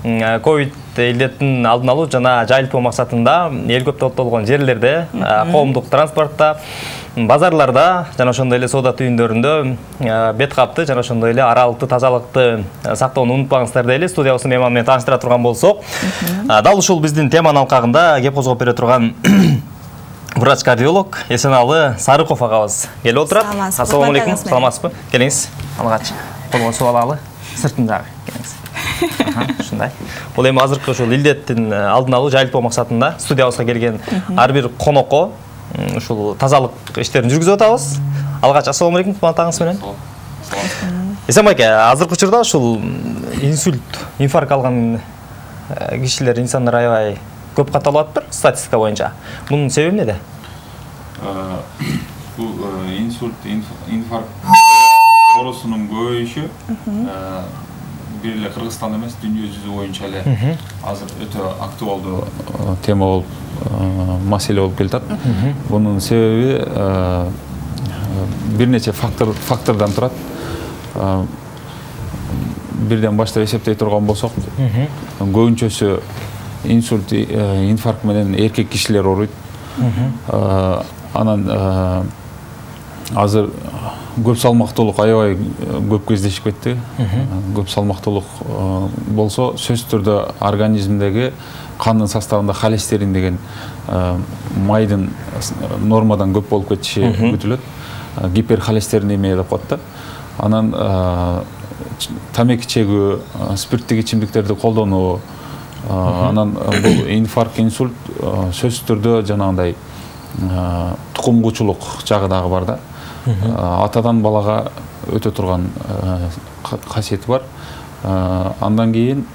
ковид илдеттин алдын алуу жана жайылтуу максатында эл көп топтолгон жерлерде, коомдук транспортто, базарларда жана ошондой эле соода түйүндөрүндө бет капты жана ошондой эле аралыкты, тазалыкты сактоону унутпаңыздар дейли. Студиябыздын мейманы менен тааныштыра турган болсок, дал ушул биздин теманын алкагында кеп козгоп бере турган врач-кардиолог Эсеналы Сарыков агабыз келип отурат. Ассаламу алейкум. Саламатсызбы? Келиңиз. Алгач колго суу алалы. Сыртын жагы келиңиз. Ушундай. Бул эми азыркы ушул илдеттин алдын алуу, жайылтуу максатында студиябызга келген ар бир конокко ушул тазалык иштерин жүргүзүп атабыз. Алгач ассаламу алейкум, кубанатыңыз менен. Эсен байке, азыркы учурда ушул инсульт, инфаркт алган кишилер, инсандар аябай көп катталып атыптыр статистика боюнча. Бунун себеби эмнеде? Бул инсульт, инфаркт оорусунун көбөйүшү бир эле Кыргызстанда эмес, дүйнө жүзү боюнча эле азыр өтө актуалдуу тема болуп, маселе болуп келатат. Бунун себеби бир нече фактордон турат. Бирден баштап эсептей турган болсок, көбүнчөсү инсульт, инфаркт менен эркек кишилер ооруйт. Анан азыр көп салмактуулук аябай көп кездешип кетти. Көп салмактуулук болсо, сөзсүз түрдө организмдеги кандын составында холестерин деген майдын нормадан көп болуп кетиши күтүлөт. Гиперхолестеринемия деп коет да. Анан тамеки чегүү, спирттик ичимдиктерди колдонуу, анан бул инфаркт, инсульт сөзсүз түрдө жанагындай тукумгучулук жагы дагы бар да. Атадан балага өтө турган касиети бар. Андан кийин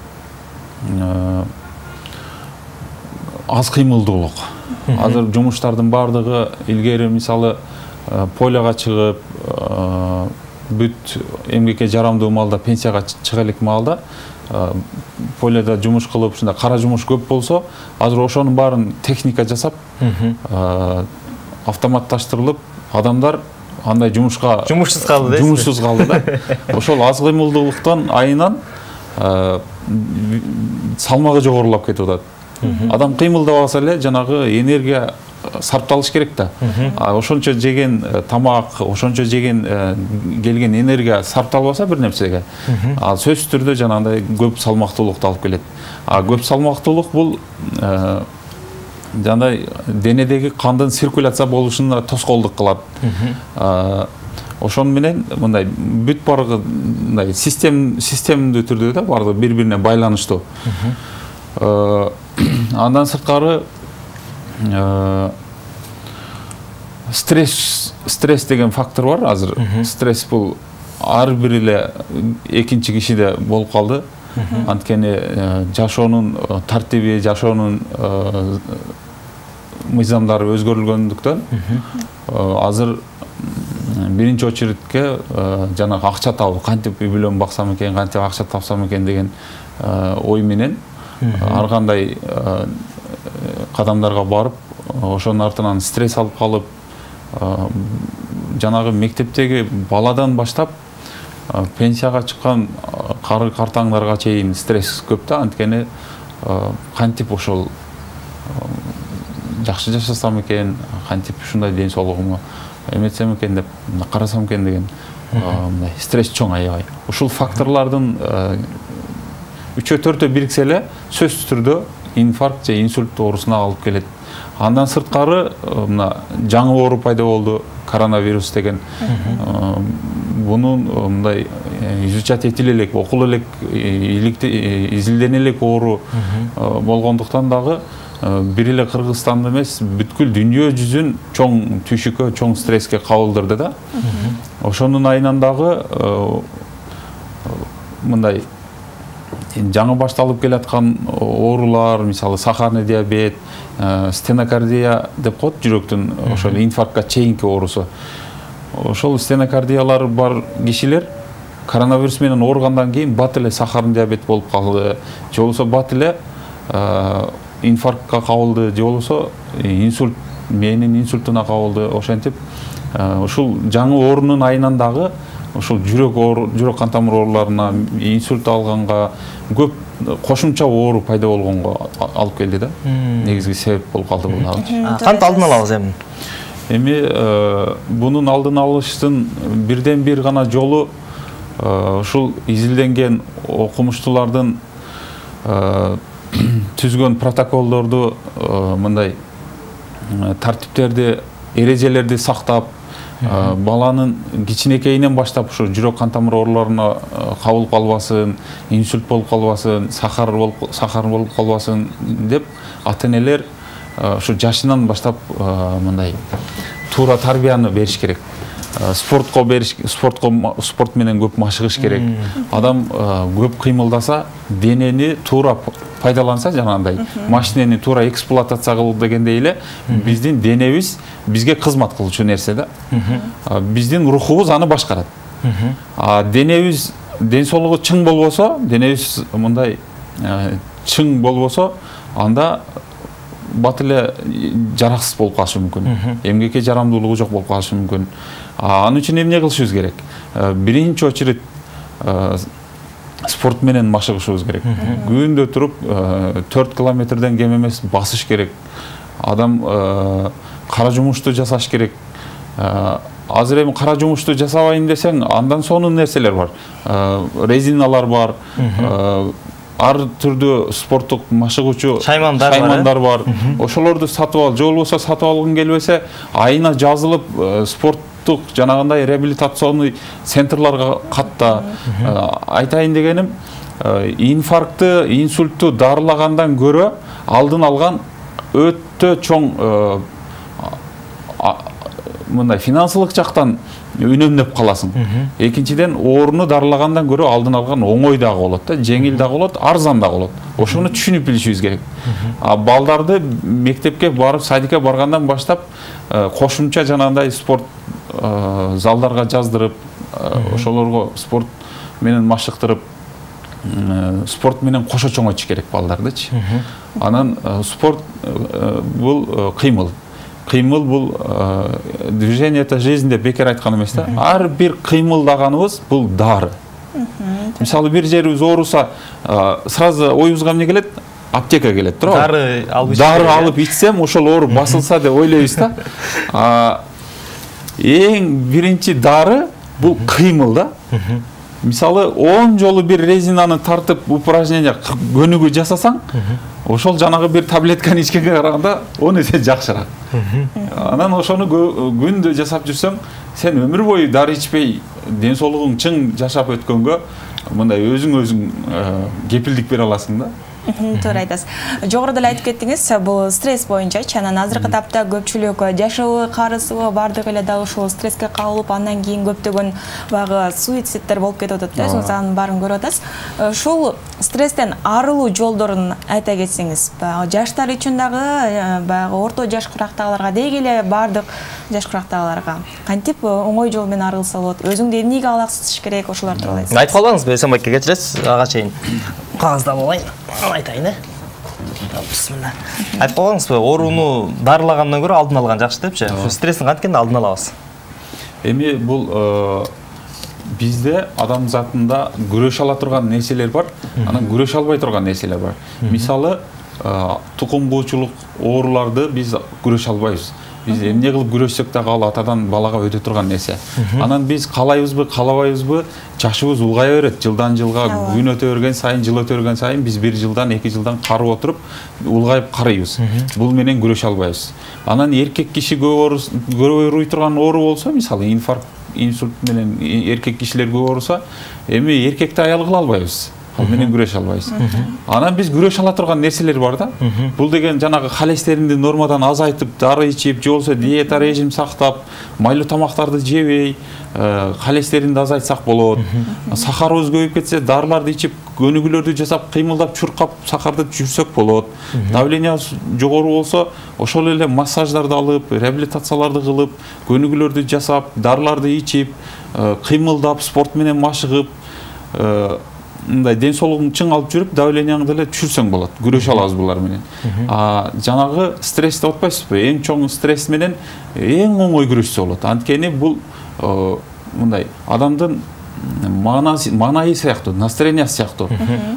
аз кыймылдуулук. Азыр жумуштардын бардыгы илгери мисалы полияга чыгып, бүт эмгекке жарамдуу маалда, пенсияга чыга элек маалда полияда жумуш кылып, ушундай кара жумуш көп болсо, азыр ошонун баарын техника жасап, автоматташтырылып, адамдар андай жумушка жумушсуз калды да. Жумушсуз калды да. Ошол аз кыймылдуулуктан айынан салмагы жогорулап кетип атат. Адам кыймылдабаса эле жанагы энергия сарпталыш керек да. Ошончо жеген тамак, ошончо жеген келген энергия сарпталбаса бир нерсеге, ал сөзсүз түрдө жанагындай көп салмактуулукту алып келет. Көп салмактуулук бул жандай денедеги кандын циркуляция болушуна тоскоолдук кылат. Ошон менен мындай бүт барлыгы мындай системдүү түрдө да бардыгы бири-бирине байланыштуу. Андан сырткары стресс деген фактор бар азыр. Стресс бул ар бир эле экинчи кишиде болуп калды. Анткени жашоонун тартиби, жашоонун мыйзамдары өзгөрүлгөндүктөн азыр биринчи очередке жанагы акча табуу, кантип үй бүлөм баксам экен, кантип акча тапсам экен деген ой менен ар кандай кадамдарга барып, ошонун артынан стресс алып калып, жанагы мектептеги баладан баштап пенсияга чыккан картаңдарга чейин стресс көп да. Анткени кантип ошол жакшы жашасам экен, кантип ушундай ден соолугумду эметсем экен деп карасам экен деген мындай стресс чоң аябай. Ушул факторлордун 3-4 бириксе эле сөзсүз түрдө инфаркт же инсульт оорусуна алып келет. Андан сырткары мына жаңы оору пайда болду, коронавирус деген. Бунун мындай изучать этиле элек, окуле элек, изилдене элек оору болгондуктан дагы бир эле Кыргызстанды эмес, бүткүл дүйнө жүзүн чоң түйшүккө, чоң стресске кабылдырды да. Ошонун айынан дагы мындай жаңы башталып келаткан оорулар, мисалы сахарный диабет, стенокардия деп коет, жүрөктүн ошол инфарктка чейинки оорусу. Ошол стенокардиялар бар кишилер коронавирус менен ооругандан кийин бат эле сахарный диабет болуп калды, же болбосо бат эле инфарктка кабылды, же болбосо инсульт менин инсультуна кабылды. Ошентип ушул жаңы оорунун айынан дагы ошол жүрөк кан тамыр ооруларына, инсульт алганга, көп кошумча оору пайда болгонго алып келди да. Негизги себеп болуп калды бул. Кантип алдын алабыз эми? Эми бунун алдын алыштын бирден бир гана жолу ушул изилденген окумуштуулардын түзгөн протоколдорду, мындай тартиптерди, эрежелерди сактап, баланын кичинекейинен баштап ушу жүрөк кан тамыр ооруларына кабылып калбасын, инсульт болуп калбасын, сахар болуп калбасын деп ата-энелер ушу жашынан баштап мындай туура тарбияны бериш керек. Спорт менен көп машыгыш керек. Адам көп кыймылдаса, денени туура пайдаланса, жанагындай машинени туура эксплуатация кылуу дегендей эле биздин денебиз бизге кызмат кылчу нерсе да. Биздин рухубуз аны башкарат. Денебиз, ден соолугу чың болбосо, денебиз мындай чың болбосо, анда бат эле жараксыз болуп калышы мүмкүн. Эмгекке жарамдуулугу жок болуп калышы мүмкүн. Анын үчүн эмне кылышыбыз керек? Биринчи очередь спорт менен машыгышыбыз керек. Күндө туруп 4 километрден кем эмес басыш керек. Адам кара жумушту жасаш керек. Азыр эми кара жумушту жасабайм десең, андан сонун нерселер бар. Резиналар бар. Ар түрдүү спорттук машыгуучу шаймандар бар. Ошолорду сатып ал, же болбосо сатып алгың келбесе, айына жазылып спорттук жанагындай реабилитационный центрларга катта. Айтайын дегеним, инфарктты, инсультту дарылагандан көрө алдын алган өтө чоң мындай финансылык жактан үнөмдөп каласың. Экинчиден, ооруну дарылагандан көрө алдын алган оңой дагы болот да, жеңил дагы болот, арзан дагы болот. Ошону түшүнүп билишибиз керек. Балдарды мектепке барып, садикке баргандан баштап кошумча жанагындай спорт залдарга жаздырып, ошолорго спорт менен машыктырып, спорт менен кошо чоңойтуш керек балдардычы. Анан спорт бул кыймыл. Кыймыл бул движение это жизнь деп бекер айткан эмес да. Ар бир кыймылдаганыбыз бул дары. Мисалы бир жерибиз ооруса, сразу оюбузга эмне келет? Аптека келет, туурабы? Дары алып ичсем, ошол оору басылса деп ойлойбуз да. Эң биринчи дары бул кыймыл да. Мисалы 10 жолу бир резинаны тартып упражнение көнүгүү жасасаң, ошол жанагы бир таблетканы ичкенге караганда 10 эсе жакшыраак. Анан ошону күндө жасап жүрсөң, сен өмүр бою дары ичпей, ден соолугуң чың жашап өткөнгө мындай өзүң кепилдик бере аласың да. Туура айтасыз. Жогоруда эле айтып кеттиңиз, бул стресс боюнча, анан азыркы тапта көпчүлүк жашоо карызыбы бардыгы эле дал ушул стресске кабылып, андан кийин көптөгөн баягы суицидтер болуп кетип атат да, сиз анын баарын көрүп атасыз. Ушул стресстен арылуу жолдорун айта кетсеңиз, жаштар үчүн дагы, баягы орто жаш курактагыларга, деги эле бардык жаш курактагыларга кантип оңой жол менен арылса болот? Өзүңдү эмнеге алаксытыш керек, ошолор тууралуу айтсаңыз. Айтып калбаңызбы, Эсенбайке кечиресиз, ага чейин кагазда болайын. Айтайын, бисмилла. Айтып калбаңызбы, ооруну дарылагандан көрө алдын алган жакшы депчи? Ушу стресстин канткен алдын алабыз? Эми бул бизде адам затында күрөшө ала турган нерселер бар, анан күрөшө албай турган нерселер бар. Мисалы, тукум куучулук ооруларды биз күрөшө албайбыз. Биз эмне кылып күрөшсөк дагы ал атадан балага өтө турган нерсе. Анан биз каалайбызбы, каалабайбызбы, жашыбыз улгая берет. Жылдан жылга күн өтө берген сайын, жыл өтө берген сайын биз 1 жылдан, 2 жылдан карып отуруп, улгайып карыйбыз. Бул менен күрөшө албайбыз. Анан эркек киши көп ооруй турган оору болсо, мисалы инфаркт, инсульт менен эркек кишилер көп ооруса, эми эркекти аял кыла албайбыз. Ал менен күрөшө албайбыз. Анан биз күрөшө ала турган нерселер бар да. Бул деген жанагы холестеринди нормадан азайтып, дары ичип, же болбосо диета режим сактап, майлуу тамактарды жебей, холестеринди азайтсак болот. Сахарыбыз көбөйүп кетсе, дарыларды ичип, көнүгүүлөрдү жасап, кыймылдап, чуркап, сахарды жүрсөк болот. Давленияыбыз жогору болсо, ошол эле массаждарды алып, реабилитацияларды кылып, көнүгүүлөрдү жасап, дарыларды ичип, кыймылдап, спорт менен машыгып, мындай ден соолугуң чың алып жүрүп, давленияңды эле түшүрсөң болот. Күрөшө алабыз булар менен. Жанагы стресс деп атпайсызбы? Эң чоң стресс менен эң оңой күрөшсө болот. Анткени бул мындай адамдын маанайы сыяктуу, настроениясы сыяктуу.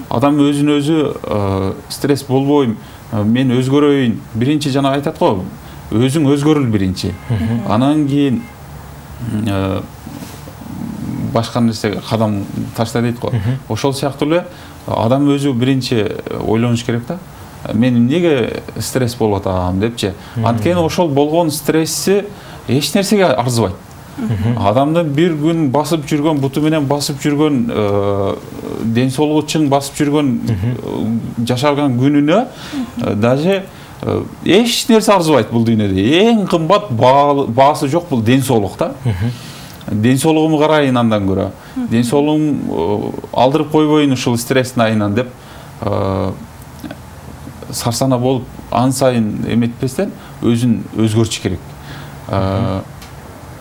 Адам өзүн өзү стресс болбойм, мен өзгөрөйүн. Биринчи жана айтат го, өзүң өзгөрүл биринчи. Анан кийин башка нерсеге кадам ташта дейт го. Ошол сыяктуу эле адам өзү биринчи ойлонуш керек да. Мен эмнеге стресс болуп атам депчи. Анткени ошол болгон стресси эч нерсеге арзыбайт. Адамдын бир күн басып жүргөн, буту менен басып жүргөн, ден соолугу чың басып жүргөн жашаган күнүнө даже эч нерсе арзыбайт бул дүйнөдө. Эң кымбат баасы жок бул ден соолук да. Ден соолугумду карайын андан көрө. Ден соолугум алдырып койбойн ушул стресстин айынан деп сарсана болуп ан сайын эметпестен өзүн өзгөртүш керек.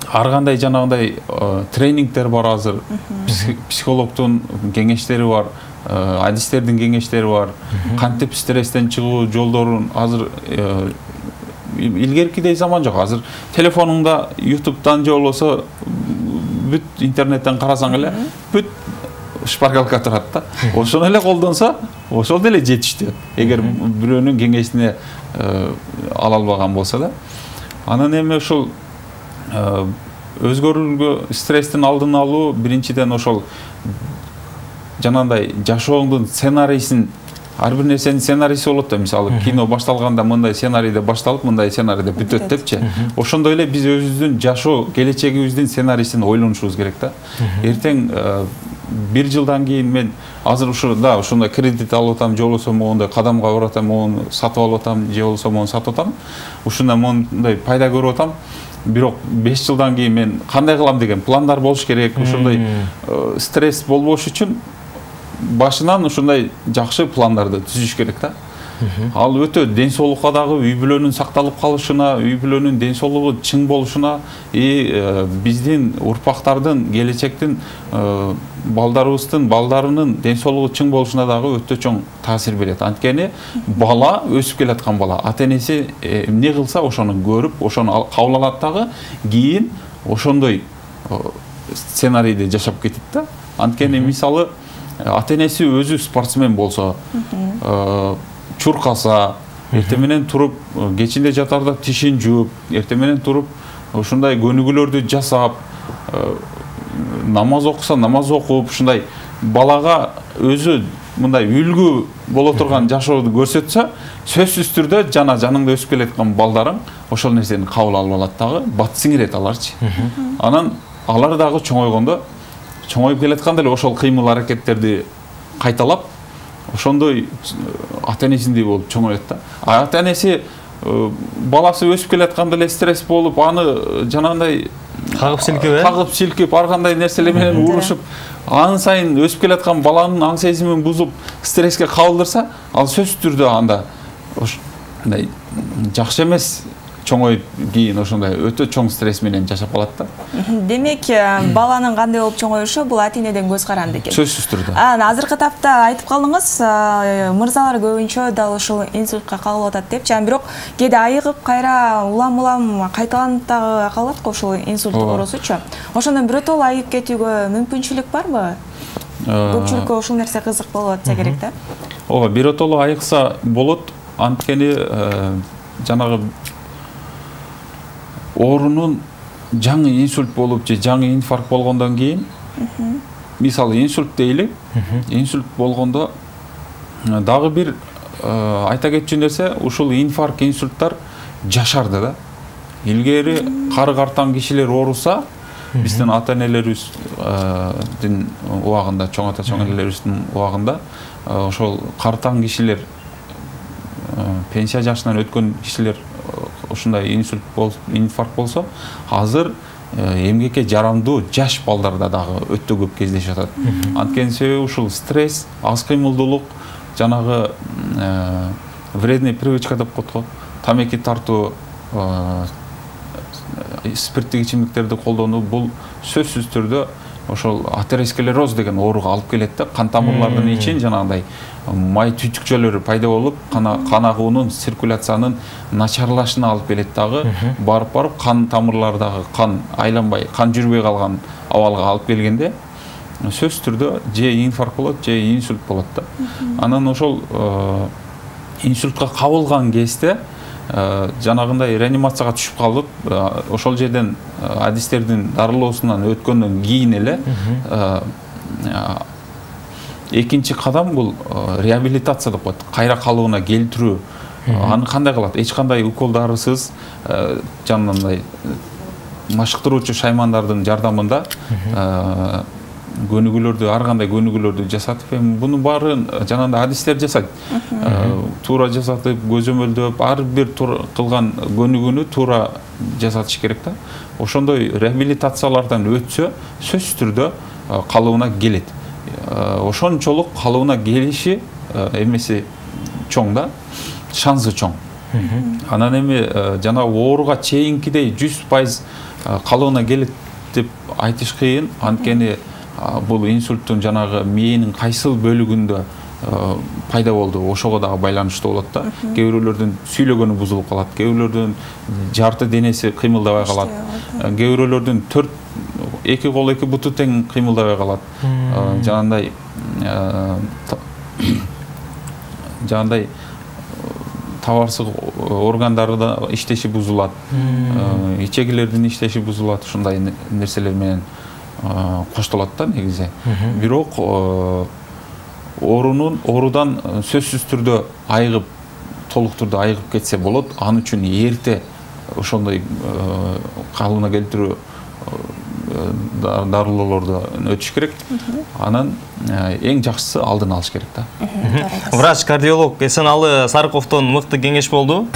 Ар кандай жанагындай тренингдер бар азыр. Психологдун кеңештери бар, адистердин кеңештери бар. Кантип стресстен чыгуу жолдорун азыр илгеркидей заман жок. Азыр телефонуңда YouTube'дан же болбосо бүт интернеттен карасаң эле бүт шпаргалка турат да. Ошону эле колдонсо, ошол деле жетиштүү. Эгер бирөөнүн кеңешине ала албаган болсо да. Анан эми ушул өзгөрүүгө стресстин алдын алуу биринчиден ошол жанагындай жашооңдун сценарийсин, ар бир нерсенин сценарийси болот да. Мисалы кино башталганда мындай сценарийде башталып, мындай сценарийде бүтөт депчи. Ошондой эле биз өзүбүздүн жашоо келечегибиздин сценарийсин ойлонушубуз керек да. Эртең бир жылдан кийин мен азыр ушундай кредит алып атам, же болбосо моундай кадамга барып атам, моуну сатып алып атам, же болбосо моуну сатып атам. Ушундай моундай пайда көрүп атам. Бирок 5 жылдан кийин мен кандай кылам деген пландар болуш керек. Ушундай стресс болбош үчүн башынан ушундай жакшы пландарды түзүш керек да. Ал өтө ден соолукка дагы, үй бүлөнүн сакталып калышына, үй бүлөнүн ден соолугу чың болушуна, биздин урпактардын, келечектин балдарынын ден соолугу чың болушуна дагы өтө чоң таасир берет. Анткени бала, өсүп келаткан бала, ата-энеси эмне кылса ошону көрүп, ошону кабыл алат дагы, кийин ошондой сценарийде жашап кетет да. Анткени мисалы ата-энеси өзү спортсмен болсо, чуркаса, эртең менен туруп, кечинде жатарда тишин жууп, эртең менен туруп, ушундай көнүгүүлөрдү жасап, намаз окуса, намаз окуп, ушундай балага өзү мындай үлгү боло турган жашооду көрсөтсө, сөзсүз түрдө жаныңда өсүп келаткан балдарың ошол нерсени кабыл алып алат дагы, бат сиңирет аларчы. Анан алар дагы чоңойгондо, чоңоюп келатканда эле ошол кыймыл аракеттерди кайталап, ошондой ата-энесиндей болуп чоңоет да. Ата-энеси баласы өсүп келатканда эле стресс болуп, аны жанагындай кагып силкип, ар кандай нерселер менен урушуп, ан сайын өсүп келаткан баланын аң сезимин бузуп, стресске кабылдырса, ал сөзсүз түрдө анда ошондой жакшы эмес чоңоюп кийин ошондой өтө чоң стресс менен жашап калат да. Демек, баланын кандай болуп чоңоюшу бул ата-энеден көз каранды экен. Сөзсүз түрдө. Азыркы тапта айтып калдыңыз, мырзалар көбүнчө дал ушул инсультка кабылып атат депчи. Бирок кээде айыгып, кайра улам кайталанып дагы калат го ушул инсульт оорусучу. Ошондон биротоло айыгып кетүүгө мүмкүнчүлүк барбы? Көпчүлүккө ушул нерсе кызык болуп атса керек да. Ооба, биротоло айыкса болот. Анткени жанагы оорунун жаңы инсульт болуп же жаңы инфаркт болгондон кийин, мисалы инсульт дейли, инсульт болгондо дагы бир айта кетчү нерсе, ушул инфаркт, инсульттар жашарды да. Илгери кары картан кишилер ооруса, биздин ата-энелерибиздин убагында, чоң ата-энелерибиздин убагында ошол картан кишилер, пенсия жашынан өткөн кишилер ушундай инфаркт болсо, азыр эмгекке жарамдуу жаш балдарда дагы өтө көп кездешип атат. Анткени себеби ушул стресс, аз кыймылдуулук, жанагы вредный привычка деп коет го, тамеки тартуу, спирттик ичимдиктерди колдонуу, бул сөзсүз түрдө ошол атеросклероз деген ооруга алып келет да. Кан тамырлардын ичин жанагындай май түтүкчөлөр пайда болуп, кан агуунун, циркуляциянын начарлашына алып келет дагы. Барып кан тамырлардагы кан айланбай, кан жүрбөй калган абалга алып келгенде сөзсүз түрдө же инфаркт болот, же инсульт болот да. Анан ошол инсультка кабылган кезде жанагындай реанимацияга түшүп калып, ошол жерден адистердин дарылоосунан өткөндөн кийин эле экинчи кадам бул реабилитация деп коет. Кайра калыбына келтирүү. Аны кандай кылат? Эч кандай укол дарысыз, жанагындай машыктыруучу шаймандардын жардамында көнүгүүлөрдү, ар кандай көнүгүүлөрдү жасатып, мунун баарын жанагындай адистер жасайт. Туура жасатып, көзөмөлдөп, ар бир кылган көнүгүүнү туура жасатыш керек да. Ошондой реабилитациялардан өтсө, сөзсүз түрдө калыбына келет. Ошончолук калыбына келиши эмеси чоң да, шансы чоң. Анан эми жанагы ооруга чейинкидей 100% калыбына келет деп айтыш кыйын, анткени бул инсульттун жанагы мээнин кайсыл бөлүгүндө пайда болду, ошого дагы байланыштуу болот да. Кээ бирөөлөрдүн сүйлөгөнү бузулуп калат, кээ бирөөлөрдүн жарты денеси кыймылдабай калат, кээ бирөөлөрдүн 2 кол 2 буту тең кыймылдабай калат. Жанагындай табарсыз органдары да иштеши бузулат, ичегилердин иштеши бузулат, ушундай нерселер менен коштолот да негизи. Бирок оорудан сөзсүз түрдө айыгып, толук түрдө айыгып кетсе болот. Ал үчүн эрте ошондой калыбына келтирүү дарылоолорду өтүш керек. Анан эң жакшысы алдын алыш керек да. Врач кардиолог Эсеналы Сарыковдон мыкты кеңеш болду.